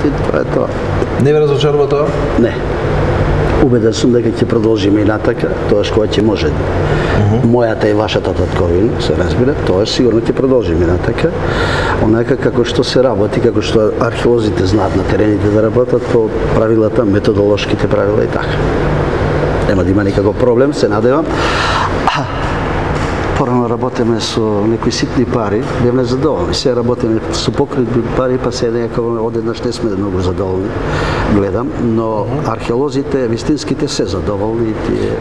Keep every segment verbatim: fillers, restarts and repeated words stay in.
и тоа е тоа. Не ве разочарува тоа? Не. Убеден сум дека ќе продолжиме и натака, тоа што ќе може. Мојата и вашата татковина, се разбира, тоа сигурно ќе продолжиме натака. Онака како што се работи, како што археолозите знаат на терените да работат по правилата, методолошките правила и така. Нема да има никаков проблем, се надевам. Порано работиме со некои ситни пари, бевме задоволни. Се работиме со покритни пари, па се некако одеднаш не сме многу задоволни, гледам, но археолозите, вистинските се задоволни.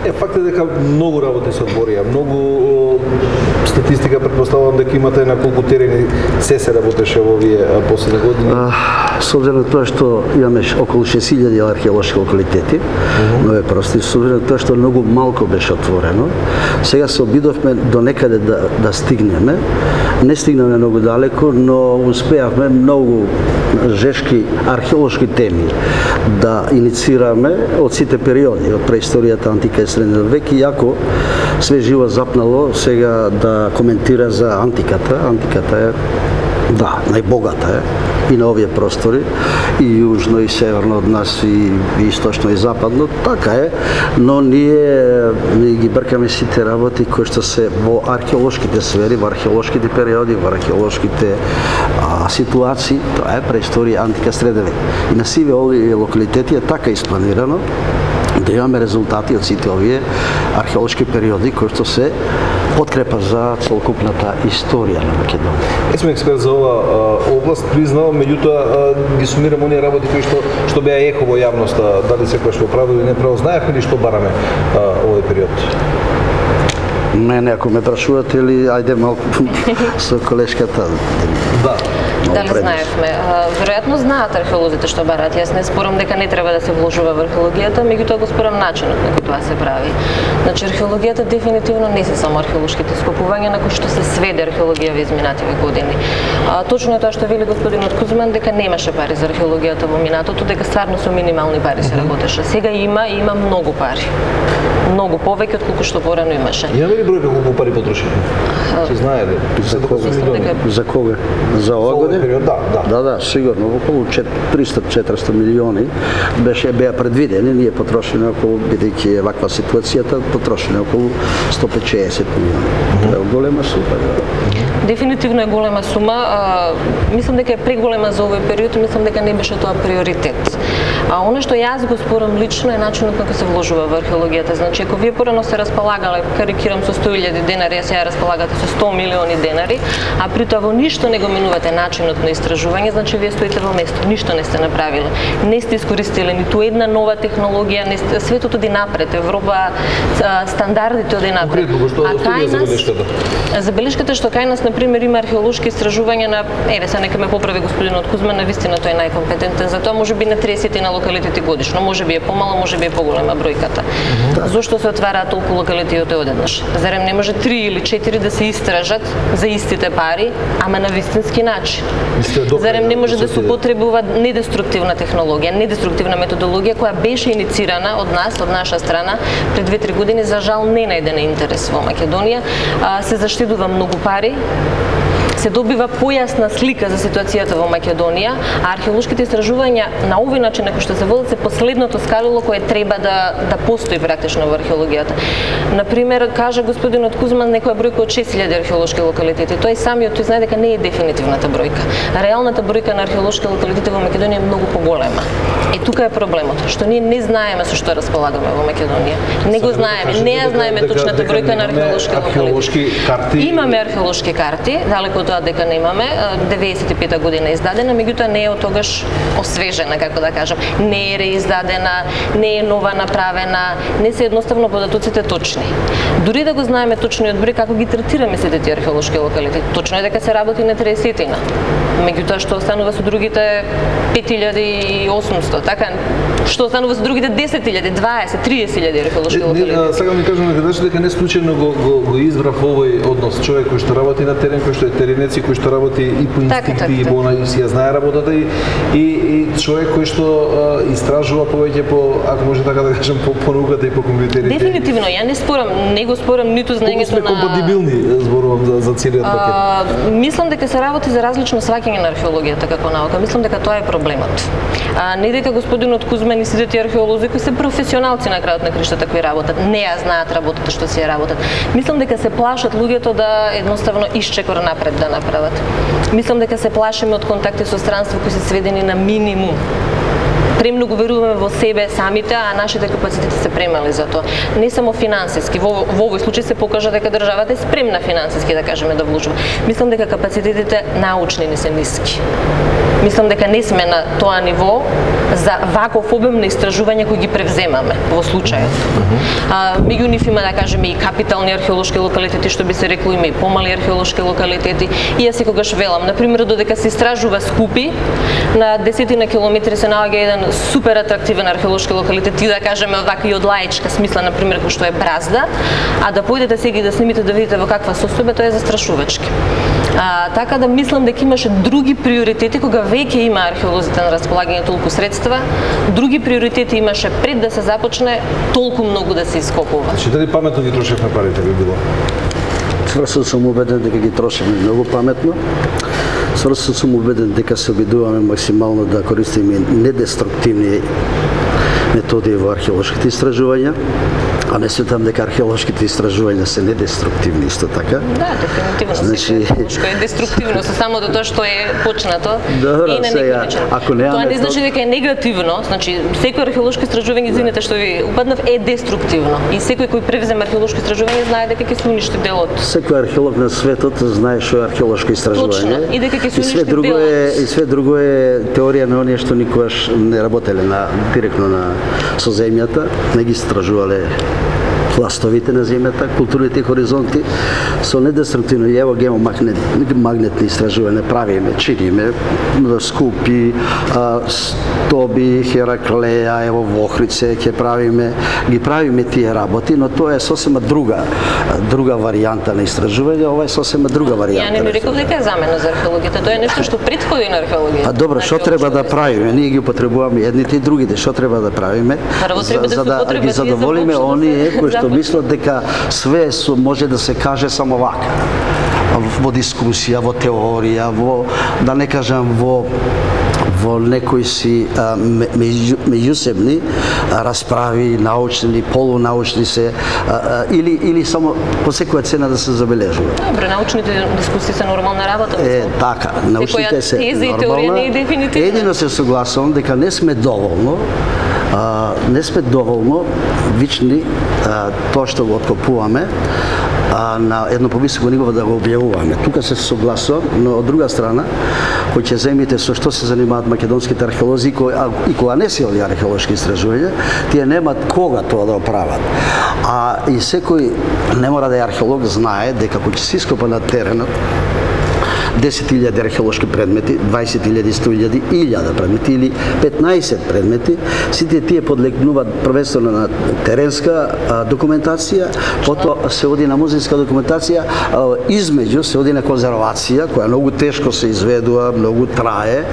Е, факт е дека многу работи се одборија, многу статистика предпоставувам дека имате на колку терени се се работеше во овие последни години. С обзиром на тоа што имаме околу шест илјади археолошки локалитети, но е прости, с обзиром на тоа што многу малку беше отворено, сега се обидовме до некаде да, да стигнеме. Не стигнеме многу далеко, но успеавме многу жешки археолошки теми да инициираме од сите периоди, од преисторијата, антика и средниот век, и ако све живо запнало сега да коментира за антиката. Антиката е, да, најбогата е и на овие простори, и јужно и северно од нас, и источно и западно, така е, но ние, ние ги бркаме сите работи кои што се во археолошките сфери, во археолошките периоди, во археолошките а, ситуации, тоа е преисторија, антика, среден век. И на сиве овие локалитети е така испланирано да имаме резултати од сите овие археолошки периоди кои што се подкрепа за целокупната историја на Македонија. Е, сме експерт за ова а, област, признавам, меѓутоа ги сумирам оние работи кои што што беа ехо во јавноста, дали секој што право или не право, знаевме ли што бараме а, овој период? Мене, ако ме прашувате, или ајде малку со колешката. Да. Дали знаевме? Веројатно знаат археолозите што барат. Јас не спорам дека не треба да се вложува во археологијата, меѓутоа го спорам начинот на кој тоа се прави. Значи археологијата дефинитивно не се само археолошките скопувања на кои што се сведе археологија во изминативе години. А, точно е тоа што вели господинот Кузман, дека немаше пари за археологијата во минатото, дека стварно со минимални пари се работеше. Сега има и има многу пари. Многу повеќе од колку што порано имаше. Имаме ли бројка колку пари потрошени? Се знае ли? За кога? За кога? За ова година? Период, да, да. Да, да, сигурно околу триста до четиристо милиони беше беа предвидени, ние потрошени околу, бидејќи е ваква ситуацијата, потрошени околу сто петчесет милиони. Тоа е голема сума. Дефинитивно е голема сума. А, мислам дека е преголема за овој период, мислам дека не беше тоа приоритет. А она што јас го спорам лично е начинот на кој се вложува во археологијата. Значи, ако вие порано се располагале, карикирам, со сто илјади денари, а сега располагате со сто милиони денари, а при тоа во ништо не го менувате начинот на истражување, значи вие стоите во место, ништо не сте направиле. Не сте искористиле ниту една нова технологија, не сте, светот оди напред, Европа, стандардите оди напред. А кај нас забелешката што кај нас на пример има археолошки истражувања на, еве се нека ме поправи господинот Кузман, навистина тој е најкомпетентен за тоа, можеби на тридесет на локалитети годишно, можеби е помало, можеби е поголема бројката. Да. Зошто се отвараат толку локалитети одеднаш? Зарем не може три или четири да се истражат за истите пари, ама на вистински начин? Зарем не може да се употребува недеструктивна технологија, недеструктивна методологија која беше иницирана од нас, од наша страна пред две-три години, за жал не најде на интерес во Македонија, а, се заштедува многу пари, се добива појасна слика за ситуацијата во Македонија, а археолошките истражувања на овој начин на кој што се водат се последното скалило кое треба да да постои практично во археологијата. На пример, кажа господинот Кузман некоја бројка од шест илјади археолошки локалитети. Тој самиот тој знае дека не е дефинитивната бројка. Реалната бројка на археолошки локалитети во Македонија е многу поголема. И тука е проблемот, што ние не знаеме со што располагаме во Македонија. Не го знаеме, не ја знаеме точната бројка на археолошки локалитети. Имаме археолошки карти, далеку од тоа дека немаме, деветдесет и пета година е издадена, меѓутоа не е од тогаш освежена, како да кажам. Не е реиздадена, не е нова направена, не се едноставно податоците точни. Дури да го знаеме точниот број, како ги третираме сите тие археолошки локалитети. Точно е дека се работи на триесетина. Меѓутоа што останува со другите пет илјади и осумсто, така? Што останува со другите десет илјади, дваесет, триесет илјади археолошки локалитети? Сега ми кажам дека дека не случајно го, го, го избрав овој однос, човек кој што работи на терен, кој што е терен ученеци кои што работи и по инстинкти, така, и по и си ја знае работата и, и, и човек кој што а, истражува повеќе по, ако може така да кажем, по, по науката и по компјутерите. Дефинитивно, ја не спорам, не го спорам ниту знаењето на... Колку сме компатибилни, зборувам за, за целиот пакет. А, мислам дека се работи за различно сваќање на археологијата како наука. Мислам дека тоа е проблемот. А, не дека господинот Кузман и сите тие археолози кои се професионалци на крајот на криштата кои работат, не ја знаат работата што си ја работат. Мислам дека се плашат луѓето да едноставно исчекор напред да направат. Мислам дека се плашиме од контакти со странство кои се сведени на минимум. Премногу веруваме во себе самите, а нашите капацитети се премали за тоа. Не само финансиски, во, во овој случај се покажа дека државата е спремна финансиски да кажеме да вложува. Мислам дека капацитетите научни не се ниски. Мислам дека не сме на тоа ниво за ваков обем на истражување кои ги превземаме во случајот. А, меѓу нив има да кажеме и капитални археолошки локалитети, што би се рекло, има и помали археолошки локалитети. И јас секогаш велам, на пример, додека се истражува Скупи, на десетина километри се наоѓа еден супер атрактивен археолошки локалитет и да кажеме вака и од лаичка смисла, на пример, кој што е Бразда, а да појдете сега и да снимите да видите во каква состојба, тоа е застрашувачки. А, така да мислам дека имаше други приоритети кога веќе има археолозите на располагање толку средства, други приоритети имаше пред да се започне толку многу да се ископува. Значи дали паметно ги трошевме парите би било? Сврсо сум убеден дека ги трошиме многу паметно. Сврсо сум убеден дека се обидуваме максимално да користиме недеструктивни методи во археолошките истражувања, а не сметам дека археолошките истражувања се недеструктивни исто така. Да, дефинитивно. Значи, што е деструктивно со само до тоа што е почнато добро, и на сега, некој начин. ако немаме Тоа не то... значи дека е негативно, значи секој археолошко истражување, извинете што ви упаднав, е деструктивно. И секој кој превземе археолошко истражување знае дека ќе се уништи делот. Секој археолог на светот знае што е археолошко истражување. Точно, и дека ќе се и све уништи друго делот. е и све друго е теорија на оние што никогаш не работеле на директно на со земјата, не ги истражувале пластовите на земјата, културните хоризонти, со недеструктивно и ево гемо магнет, магнетни истражувања правиме, чиниме, Скупи, Стоби, Хераклеја, ево во Охрице ќе правиме, ги правиме тие работи, но тоа е сосема друга, друга варијанта на истражување, ова е сосема друга варијанта. Ја не ми реков дека е замена за археологијата, тоа е нешто што претходи на археологијата. А добро, што треба да правиме? Ние ги употребуваме едните и другите, што треба да правиме? Прво треба да за да ги задоволиме оние кои што мислат дека све со може да се каже само вака. Во дискусија, во теорија, во да не кажам во во некои си а, меѓу, меѓусебни а, расправи, научни, полунаучни се, а, а, или, или само по секоја цена да се забележува. Добро, научните дискусии се нормална работа. Е, така, научните се нормална. Едино се согласувам дека не сме доволно а, не сме доволно вични а, тоа што го откопуваме а, на едно повисоко ниво да го објавуваме. Тука се согласувам, но од друга страна, кој ќе земите со што се занимаваат македонските археолози и кога не се овие археолошки истражувања, тие немаат кога тоа да оправат. А и секој не мора да е археолог знае дека кога ќе се ископа на теренот десет илјади археолошки предмети, дваесет илјади, сто илјади, илјада предмети или петнаесет предмети, сите тие подлегнуваат првенствено на теренска а, документација, потоа се оди на музејска документација, а, измеѓу се оди на конзервација, која многу тешко се изведува, многу трае,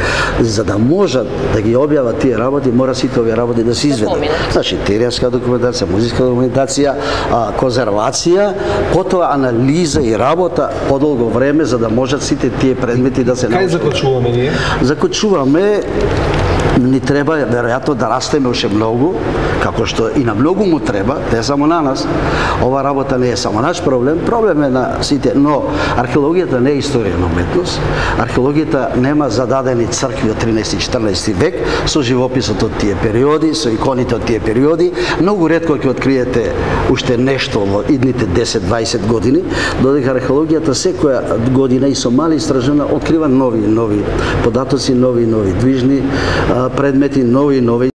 за да можат да ги објават тие работи, мора сите овие работи да се изведат. Значи, теренска документација, музејска документација, а, конзервација, потоа анализа и работа подолго време за да можат сите тие предмети да се научат. Кај заклучуваме ние? Заклучуваме, ни треба веројатно да растеме уште многу, како што и на многу му треба, не само на нас. Ова работа не е само наш проблем, проблем е на сите, но археологијата не е историја на уметност. Археологијата нема зададени цркви од тринаесети и четрнаесети век со живописот од тие периоди, со иконите од тие периоди. Многу ретко ќе откриете уште нешто во идните десет-дваесет години, додека археологијата секоја година и со мали истражувања открива нови нови податоци, нови нови движни предмети, нови нови